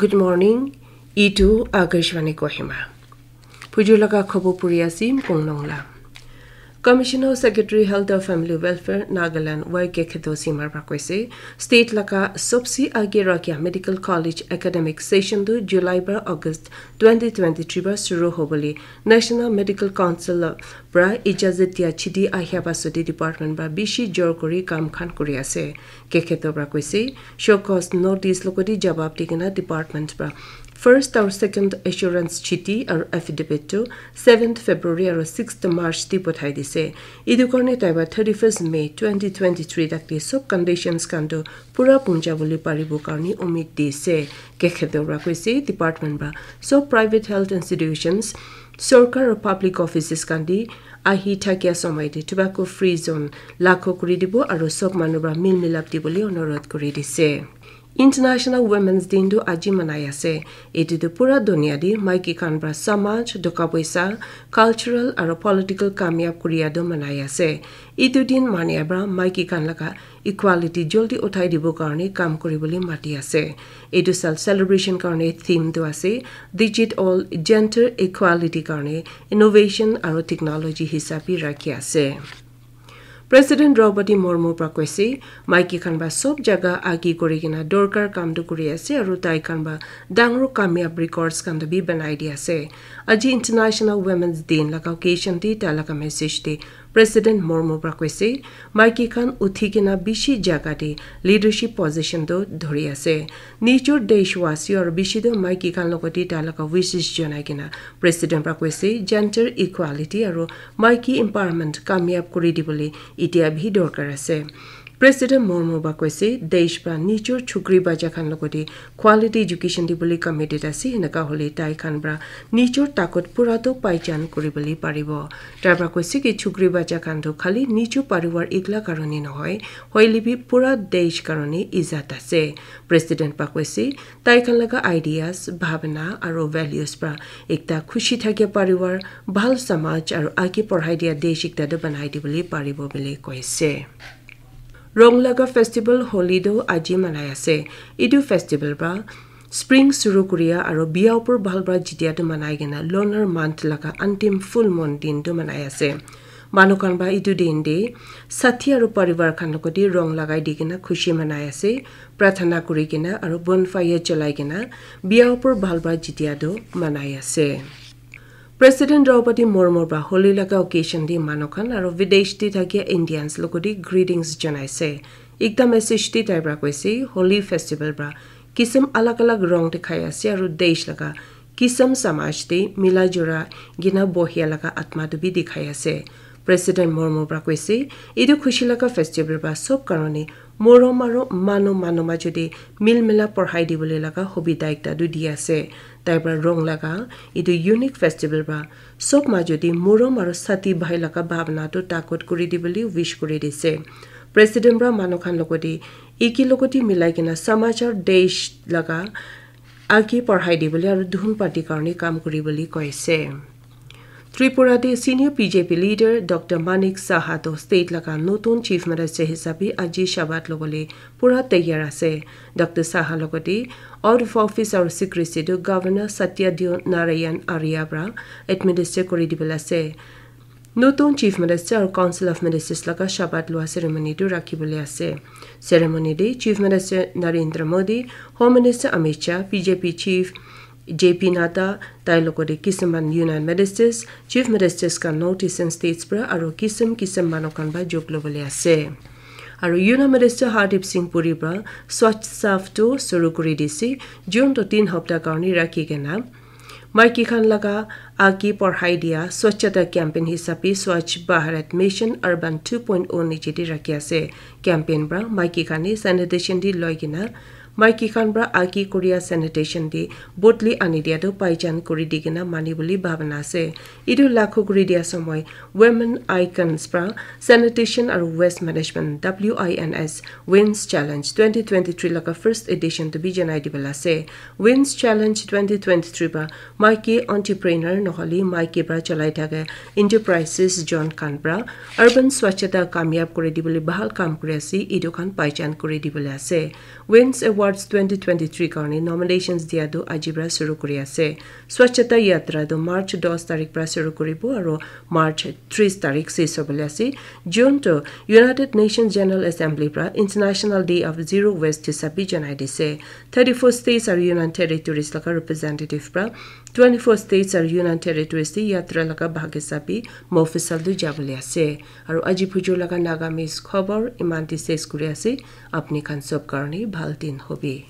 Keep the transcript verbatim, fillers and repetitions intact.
Good morning. Itu Akashvani Kohima. Pujulaka khobo puri asim kongnong la. Commissioner Secretary Health and Family Welfare Nagaland Y K Kheto Simar pra koise, state laka sobse age rakhya medical college academic session tu July pra August twenty twenty-three pra shuru hobole National Medical Council pra ijazat dia chidi ahya pasode department pra bishi jor kuri kam khan kuri ase. Kekheto pra koise, show cause notice logoti jawab dikena department pra first aru second assurance chiti aru affidavit tu seventh February aru sixth March ti pothai dise. Etu karne tai pra thirty-first May twenty twenty-three tak te sob conditions khan tu pura punja bole paribo karne umid dise. Kekheto pra koise, department pra sob private health institutions, sorkar aru public offices khan te ahi thakia somoi te tobacco free zone lakho kuri dibo aru sob manu pra mil milap dibole onurodh kuri dise. International Women's Day tu aji manai ase. Etu tu pura dunia te maiki khan pra samaj, doka poisa, cultural aru political kamyab kuria tu manai ase. Etu din mania pra maiki khan laga equality joldi uthai dibo karne kam kuribole mati ase. Etu sal celebration karne theme tu ase Digit All, Gender Equality karne innovation aru technology hisab bi rakhi ase. President Draupadi Murmu pra koise, maiki khan pra sob jaga agi kuri kena dorkar kam tu kuri ase aru tai khan pra dangor kamyab records khan tu bi banai di ase. Aji International Women's Day laga occasion te tai laga message te President Murmu pra koise, maiki khan uthi kena bishi jaga te leadership position tu dhori ase. Nijor deshwasi aru bishi tu maiki khan logoti tai laga wishes janai kena President pra koise, gender equality aru maiki empowerment kamyab kuri dibole itia bhi dorkar ase. President Murmu pra koise, desh pra nijor chukri bacha khan logoti quality education dibole committed ase, heneka hole tai khan pra nijor takot pura tu paichan kuribole paribo. Tai pra koise ki chukri bacha khan tu khali nijor parivar ikla karone nohoi, hoile bi pura desh karone izat ase. President pra koise, tai khan laga ideas, bhabna aru values pra ekta khushi thakia parivar, bhal samaj aru age porhai dia desh ekta tu banai dibole paribo bole koise. Rong laga festival Holi tu aji manai ase. Etu festival pra spring shuru kuria aru bia upor bhal pra jitia tu manai kena lunar month laga antim full moon din tu manai ase. Manu khan pra etu din te sathi aru parivar khan logoti rong lagai di kena khushi manai ase, prarthana kuri kena aru bonfire cholai kena bia upor bhal pra jitia tu manai ase. President Draupadi Murmu pra Holi laga occasion te manu khan aru videsh te thakia Indians logoti greetings janaise. Ekta message te tai pra koise, Holi festival pra kisim alag alag rong dikhai ase aru desh laga kisim samaj te mila jula kena bohia laga atma tu bi dikhai ase. President Murmu pra koise, etu khushi laga festival pra sob karone morom aru manu manu majo te mil mila porhai dibole laga hobita ekta tu di ase. Tai pra rong laga etu unique festival pra sob majo te morom aru sathi bhai laga bhabna tu takot kuri dibole wish kuri dise. President pra manu khan logoti eki logoti milai kena samaj aru desh laga age porhai dibole aru dhun party karone kam kuribole koise. Tripura te senior B J P leader Doctor Manik Saha to state laga notun chief minister hisabe aji shabat lobole pura taiyar ase. Doctor Saha logote out of office aru secrecy tu Governor Satya Dev Narayan Arya pra administer kuri dibole ase. Notun Chief Minister aru Council of Ministers laga shabat lua ceremony tu rakhi bole ase. Ceremony te Chief Minister Narendra Modi, Home Minister Amit Shah, B J P Chief J P Nadda, tai logote kisuman Union Ministers, Chief Ministers khan North Eastern States pra aru kisim kisim manu khan pra jog lobole ase. Aru Union Minister Hardip Singh Puri pra Swachh Saav tu shuru kuri dise, jun tu tin hapta karne rakhi kena maiki khan laga age porhai dia Swachhata campaign hisabe Swachh Bharat Mission Urban two point oh niche te rakhi ase. Campaign pra maiki khan he sanitation te loi kena maiki khan pra age kuria sanitation te bodli ani dia tu paichan kuri di kena mani bole bhabana ase. Etu lakho kuri dia somoi Women Icons pra Sanitation aru Waste Management, W I N S, Wins Challenge twenty twenty-three laga first edition tu bi janai dibole ase. Wins Challenge twenty twenty-three pra maiki entrepreneur nohole maiki pra cholai thaka enterprises jon khan pra urban swachhata kamyab kuri dibole bhal kam kuri ase, etu khan paichan kuri dibole ase. Wins Award March twenty twenty-three karne nominations dia tu aji pra shuru kuri ase. Swachhata Yatra tu March dos tarik pra shuru kuribo aro March tris tarik ses hobole ase. June tu United Nations General Assembly pra International Day of Zero Waste hisabe janai dise. Thirty-four states aro Union Territories laga representative pra twenty-four states aro Union Territories te yatra laga bhag hisabe Mofusal tu jabole ase. Aro aji phujur laga Nagamese khobor iman te ses kuri ase. Apni khan sob karne bhal din hobi.